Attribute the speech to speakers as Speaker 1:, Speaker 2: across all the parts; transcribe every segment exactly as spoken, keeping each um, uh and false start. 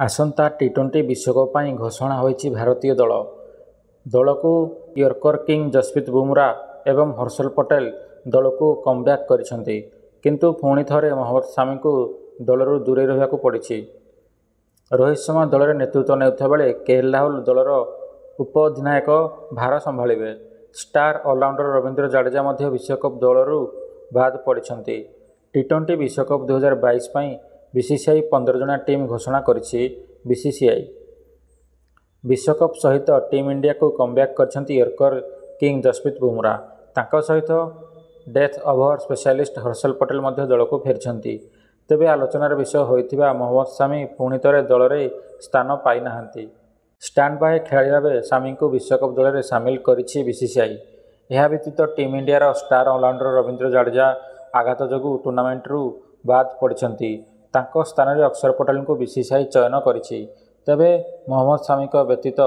Speaker 1: ଆସନ୍ତା ଟି-ଟ୍ୱେଣ୍ଟି ବିଶ୍ୱକପ୍ ପାଇଁ ଘୋଷଣା ହୋଇଛି ଭାରତୀୟ ଦଳ। ଦଳକୁ ୟର୍କର କିଙ୍ଗ ଯଶପ୍ରୀତ ବୁମରା ଏବଂ ହର୍ଷଲ ପଟେଲ ଦଳକୁ କମବ୍ୟାକ୍ କରିଛନ୍ତି। କିନ୍ତୁ ପୁଣି ଥରେ ମହମ୍ମଦ ସାମିଙ୍କୁ ଦଳରୁ ଦୂରେଇ ରହିବାକୁ ପଡ଼ିଛି। ରୋହିତ ଶର୍ମା ଦଳରେ ନେତୃତ୍ୱ ନେଉଥିବା ବେଳେ କେଏଲ ରାହୁଲ ଦଳର ଉପଅଧିନାୟକ ଭାର ସମ୍ଭାଳିବେ। ଷ୍ଟାର ଅଲରାଉଣ୍ଡର ରବୀନ୍ଦ୍ର ଜାଡେଜା ମଧ୍ୟ ବିଶ୍ୱକପ ଦଳରୁ ବାଦ୍ ପଡ଼ିଛନ୍ତି। ଟି-ଟ୍ୱେଣ୍ଟି ବିଶ୍ୱକପ ଦୁଇ ହଜାର ବାଇଶି ପାଇଁ ବିସିସିଆଇ ପନ୍ଦର ଜଣିଆ ଟିମ୍ ଘୋଷଣା କରିଛି ବିସିସିଆଇ। ବିଶ୍ୱକପ ସହିତ ଟିମ୍ ଇଣ୍ଡିଆକୁ କମବ୍ୟାକ୍ କରିଛନ୍ତି ୟର୍କର କିଙ୍ଗ ଯଶପ୍ରୀତ ବୁମରା। ତାଙ୍କ ସହିତ death over specialist Harshal Patel ମଧ୍ୟ ଦଳକୁ ଫେରିଛନ୍ତି। ତେବେ ଆଲୋଚନାର ବିଷୟ ହୋଇଥିବା ମହମ୍ମଦ ସାମି ପୁଣି ଥରେ ଦଳରେ ସ୍ଥାନ ପାଇନାହାନ୍ତି। ଷ୍ଟାଣ୍ଡବାଏ ଖେଳାଳି ଭାବେ ସାମିଙ୍କୁ ବିଶ୍ୱକପ ଦଳରେ ସାମିଲ କରିଛି ବିସିସିଆଇ। ଏହା ବ୍ୟତୀତ ଟିମ୍ ଇଣ୍ଡିଆର ଷ୍ଟାର ଅଲରାଉଣ୍ଡର ରବୀନ୍ଦ୍ର ଜାଡେଜା ଆଘାତ ଯୋଗୁଁ ଟୁର୍ଣ୍ଣାମେଣ୍ଟରୁ ବାଦ୍ ପଡ଼ିଛନ୍ତି। ତାଙ୍କ ସ୍ଥାନରେ ଅକ୍ଷର ପଟେଲଙ୍କୁ ବିସିସିଆଇ ଚୟନ କରିଛି। ତେବେ ମହମ୍ମଦ ସାମିଙ୍କ ବ୍ୟତୀତ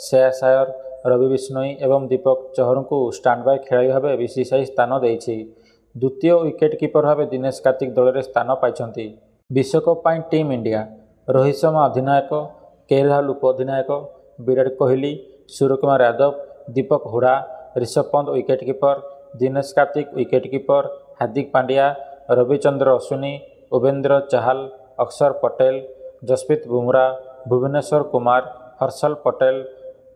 Speaker 1: ଶ୍ରେୟାସ ଆୟର, ରବି ବିଷ୍ଣୋଇ ଏବଂ ଦୀପକ ଚହରଙ୍କୁ ଷ୍ଟାଣ୍ଡବାଏ ଖେଳାଳି ଭାବେ ବିସିସିଆଇ ସ୍ଥାନ ଦେଇଛି। ଦ୍ୱିତୀୟ ୱିକେଟ କିପର ଭାବେ ଦିନେଶ କାର୍ତ୍ତିକ ଦଳରେ ସ୍ଥାନ ପାଇଛନ୍ତି। ବିଶ୍ୱକପ ପାଇଁ ଟିମ୍ ଇଣ୍ଡିଆ: ରୋହିତ ଶର୍ମା ଅଧିନାୟକ, କେଏଲ ରାହୁଲ ଉପଅଧିନାୟକ, Virat Kohli, Suryakumar Yadav, Deepak Hooda, Rishabh Pant wicket keeper, Dinesh Karthik wicket keeper, Hardik Pandya, Ravichandran Ashwin, Yuzvendra Chahal, Axar Patel, Jasprit Bumrah, Bhuvneshwar Kumar, Harshal Patel,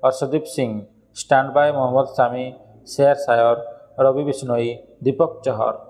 Speaker 1: Arshdeep Singh. Standby Mohammed Shami, Shreyas Iyer, Ravi Bishnoi, Deepak Chahar.